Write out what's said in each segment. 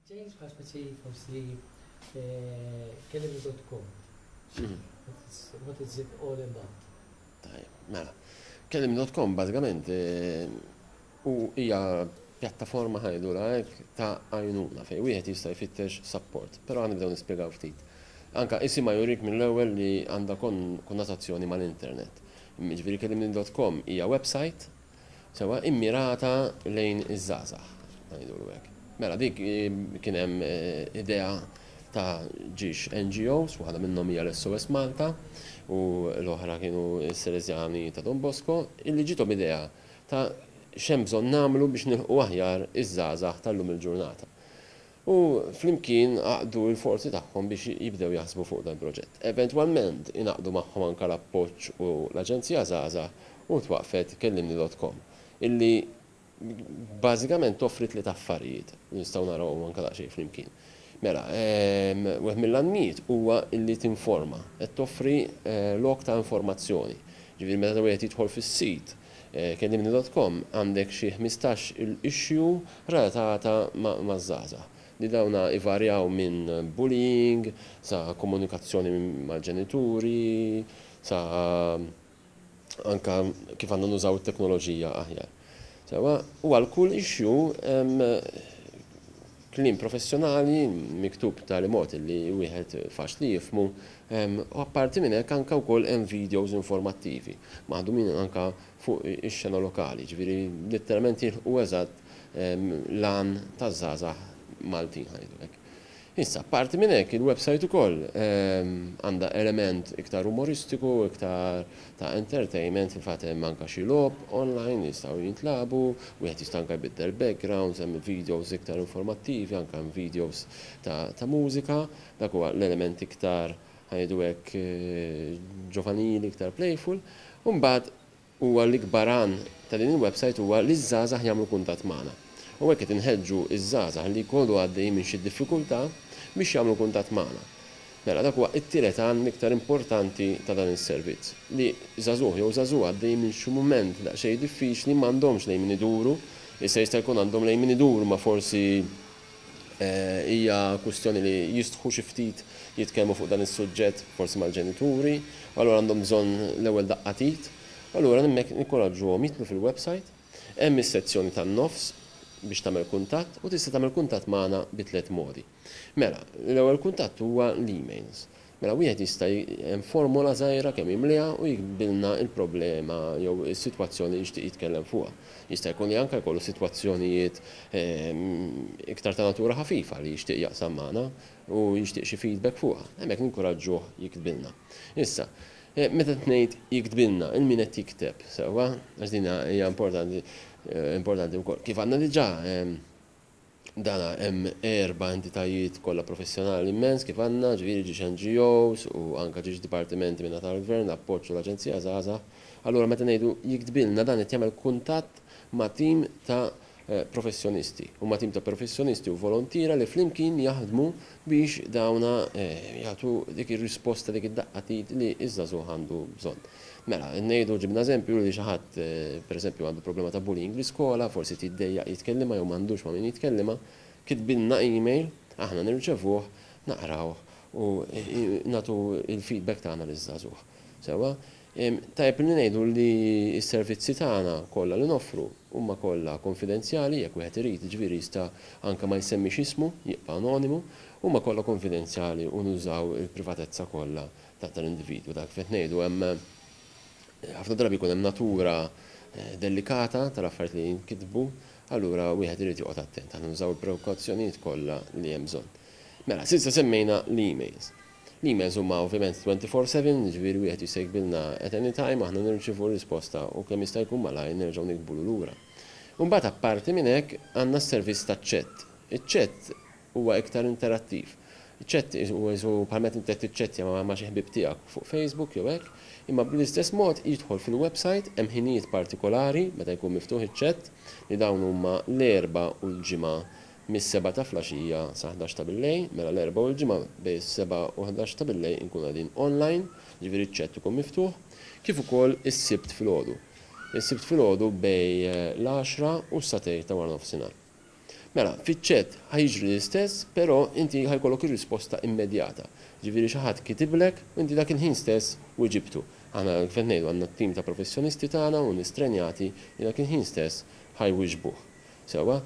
James bħal speċi forsi kellimni.com. What is it all about? Tajjeb, mela. Kellimni.com bażikament u hija pjattaforma ħa ngħidulha hekk ta' għajnuna fejn wieħed jista' jfittex support. Però ħa nibdew nispjegaw ftit. Anka isimha jurik mill-ewwel li għandha konnotazzjoni mal-internet. Jiġifieri kellimni.com hija website sewwa immirata lejn iż-żgħażagħ, ngħidulu hekk. Mela dik kien hemm idea ta' ġiex NGOs, waħda minnhom hija l-SOS Malta u l-oħra kienu s-Salesjani ta' Don Bosco, illi ġiethom idea ta' x'hemm bżonn nagħmlu biex nilħqu aħjar iż-żgħażagħ tal-lum il-ġurnata. U flimkien għaqdu l-forzi tagħhom biex jibdew jaħsbu fuq dan il-proġett. Eventwalment ingħaqdu magħhom anke l-Appoġġ u l-Aġenzija Żgħażagħ u twaqqfet Kellimni dot com illi bażikament toffri tliet affarijiet li nistgħu narawhom anke daqsxejn flimkien. Mela, wieħed mill-għanmijiet huwa illi tinforma, qed toffri lok ta' informazzjoni. Ġifieri meta wieħed jidħol fis-sit Kellimni dot com għandek xi 15 il issue relatata maż-żgħażagħ li dawna ivarjaw minn bullying sa komunikazzjoni mal-ġenituri sa anka kif għandna nużaw it-teknoloġija aħjar. Sewwa, u għal kull issue hemm kliem professjonali miktub b'tali mod li wieħed faċli jifhmu u apparti minn hekk anke wkoll hemm videos informattivi maħdumin anke fuq ix-xena lokali, jiġifieri litteralment jilħqu eżatt l-għan taż-żgħażagħ Maltin ħa ngħidu hekk. Issa, apparti minn hekk, il-website ukoll għandha element iktar umoristiku, iktar ta' entertainment, fil-fatt hemm anke xi logħob online li jistgħu jintlagħbu, wieħed jista' anke jbiddel backgrounds, hemm videos iktar informattivi, anke hemm videos ta' mużika, dak huwa l-element iktar ħa ngħidu hekk ġovanili, iktar playful. U mbagħad Huwa l-ikbar għan ta' din il-website huwa li ż-żgħażagħ jagħmlu kuntatt magħna. U hekk qed inħeġġu ż-żgħażagħ li jkunu għaddejjin minn xi diffikultà biex jagħmlu kuntatt magħna. Mela dak huwa t-tielet għan l-iktar importanti ta' dan is-servizz, li żagħżugħ jew żagħżugħa għaddejjin minn xi mument daqsxejn diffiċli m'għandhomx lejn min iduru, issa jista' jkun għandhom lejn min iduru ma forsi Hija kwistjoni li jistħu xi ftit jitkellmu fuq dan is-suġġett forsi mal-ġenituri, u allura għandhom bżonn l-ewwel daqqa t'id. U allura hemmhekk ninkoraġġuhom jidħlu fil-websajt, hemm is-sezzjoni tan-nofs biex tagħmel kuntatt u tista' tagħmel kuntatt magħna bi tliet modi. Mela, l-ewwel kuntatt huwa l-emails. Mela wieħed jista' hemm formola żgħira kemm jimliha u jiktbilna l-problema jew is-sitwazzjoni li jixtieq jitkellem fuqha. Jista' jkun li anke jkollu sitwazzjonijiet iktar ta' natura ħafifa li jixtieq jaqsam magħna u jixtieq xi feedback fuqha. Hemmhekk ninkuraġġuh jiktbilna. Issa, meta qed ngħid jiktbilna, il min qed jikteb, sewwa? Għax din hija importanti importanti wkoll. Kif għandna diġà Dana hemm erba' entitajiet kollha professjonali immens kif għandna, ġifieri ġiex NGOs u anke ġiex dipartimenti minn naħa tal-Gvern, l-Appoġġ u l-Aġenzija Żgħażagħ. Allura meta ngħidu jiktbilna dan qed jagħmel kuntatt ma' tim ta' professjonisti. Huma tim ta' professjonisti u volontiera li flimkien jaħdmu biex dawna jagħtu dik ir-risposta, dik id-daqqa t'id li ż-żagħżugħ għandu bżonn. Mela, ngħidu ġibna eżempju li xi ħadd, pereżempju, għandu problema ta' bullying l-iskola, forsi qed jiddejjaq jitkellimha jew m'għandux ma' min jitkellimha, kitbilna email, aħna nirċevuh, naqrawh u nagħtu l-feedback tagħna liż-żagħżugħ. Sewwa? Tajjeb li ngħidu li s-servizzi tagħna kollha li noffru huma kollha konfidenzjali, jekk wieħed irid, jiġifieri jista' anke ma jsemmix ismu, jibqa' anonimu, huma kollha konfidenzjali u nużaw il-privatezza kollha ta' tal-individwu. Dak kif qed ngħidu hemm ħafna drabi jkun hemm natura delikata tal-affarijiet li jinkitbu, allura wieħed irid joqgħod attent. Aħna nużaw il-prekawzjonijiet kollha li hemm bżonn. Mela, s'issa semmejna l-emails. L-emails huma ovvjament 24/7, jiġifieri wieħed jista' jiktbilna at any time, aħna nirċievu r-risposta u kemm jista' jkun malajr nerġgħu niktbulu lura. U mbagħad apparti minn hekk għandna s-servizz taċ-chat. Iċ-chat huwa iktar interattiv. Iċ-chat huwa qisu bħal meta inti qed tiċċettja ma' xi ħbieb tiegħek fuq Facebook jew hekk, imma bl-istess mod jidħol fil-website, hemm ħinijiet partikolari meta jkun miftuħ iċ-chat, li dawn huma l-Erbgħa u l-Ġimgħa mis-sebgħa ta' flaxija sa ħdax ta' billejl, mela l-Erbgħa u l-Ġimgħa bejn is-sebgħa u ħdax ta' billejl inkunu qegħdin online, jiġifieri ċ-chat ikun miftuħ, kif ukoll is-Sibt filgħodu. Is-Sibt filgħodu bejn l-għaxra u s-sagħtejn ta' waranofsinhar. Mela, fiċ-chat ħa jiġri l-istess, però inti ħa jkollok ir-risposta immedjata. Ġifieri xi ħadd kitiblek u inti dak il-ħin stess wiġibtu. Aħna kif qed ngħidu għandna t-tim ta' professjonisti tagħna u nies trenjati li dak il-ħin stess ħa jwiġbuh. Sewwa?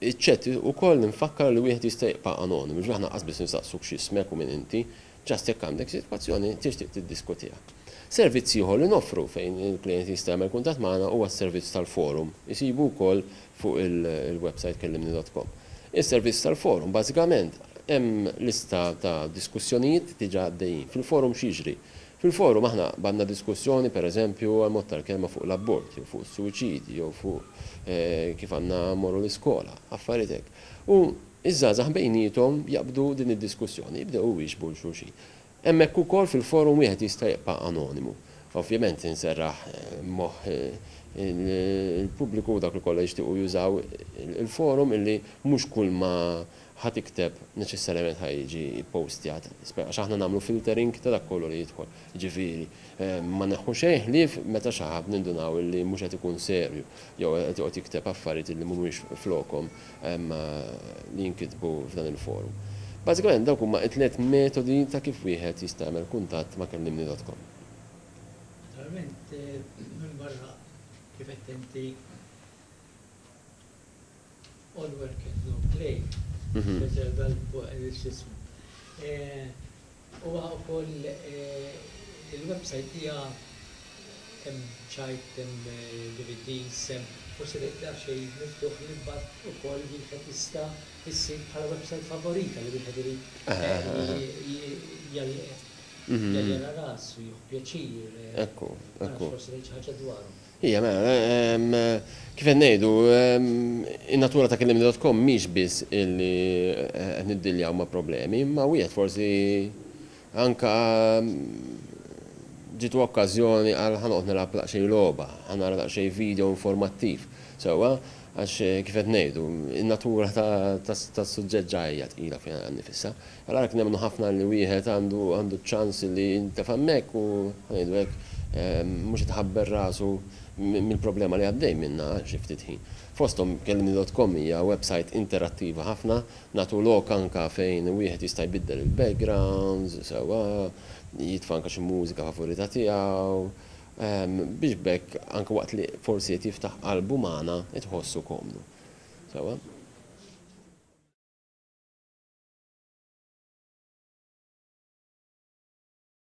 Iċ-chat ukoll infakkar li wieħed jista' jibqa' anonimu, ġifieri aħna qas biss nistaqsuk x'ismek u min inti, just jekk għandek sitwazzjoni tixtieq tiddiskutiha. Servizz ieħor li noffru fejn il-klijent jista' jagħmel kuntatt magħna huwa s-servizz tal-forum. Isibu wkoll fuq il-website kellimni.com. Is-servizz tal-forum bażikament hemm lista ta' diskussjonijiet diġà għaddejjin. Fil-forum x'jiġri? Fil-forum aħna qbadna diskussjoni pereżempju għal mod tal-kelma fuq l-abort jew fuq is-suwiċidji jew fuq kif għandna mmorru l-iskola, affarijiet hekk. U ż-żgħażagħ bejniethom jaqbdu din id-diskussjoni, jibdew iwieġbu 'l xulxin. Hemmhekk ukoll fil-forum wieħed jista' jibqa' anonimu. Ovvjament inserraħ moħħ il-pubbliku u dawk li kollha jixtiequ jużaw il-forum illi mhux kull ma ħa tikteb neċessarjament ħa jiġi ppostjat, għax aħna nagħmlu filtering ta' dak kollu li jidħol. Jiġifieri, ma neħħu xejn ħlief meta xi ħadd nindunaw illi mhux qed ikun serju jew qed joqgħod jikteb affarijiet illi mhumiex flokhom li jinkitbu f'dan il-forum. Bażikament dawk huma t-tliet metodi ta' kif wieħed jista' jagħmel kuntatt ma' kellimni dot com. Naturalment, minbarra kif għedt inti, All work and no play, x'ismu. Huwa wkoll il-website hija hemm ċajt, hemm DVDs, hemm forsi daqsxejn miftuħ li mbagħad ukoll wieħed jista' issir bħala website favorita li wieħed irid jaljena rasu, jieħu pjaċir. Ekku, ekku. Forsi tgħid xi ħaġa dwarhom. Ija, mela, kif qed ngħidu, in-natura ta' kellimni.com mhix biss illi qed niddiljaw ma' problemi, imma wieħed forsi anka ġietu okkażjoni għal ħa noqgħod nilgħab daqsxejn logħba, ħa nara daqsxejn video informattiv, sewwa, għax kif qed ngħidu, in-natura tas-suġġett ġa hija tqila fiha nnifisha. Allura għalhekk nemmnu ħafna li wieħed għandu għandu ċ-ċans li jintefa' hemmhekk u ħa ngħidu hekk mhux qed iħabbel rasu mill-problema li għaddej minnha xi ftit ħin. Fosthom kellimni dot com hija website interattiva ħafna, nagħtu lok anke fejn wieħed jista' jbiddel il-backgrounds, sewwa, jitfa' anke xi mużika favorita tiegħu, biex b'hekk anke waqt li forsi qed jiftaħ qalbu magħna tħossu komdu. Sewwa?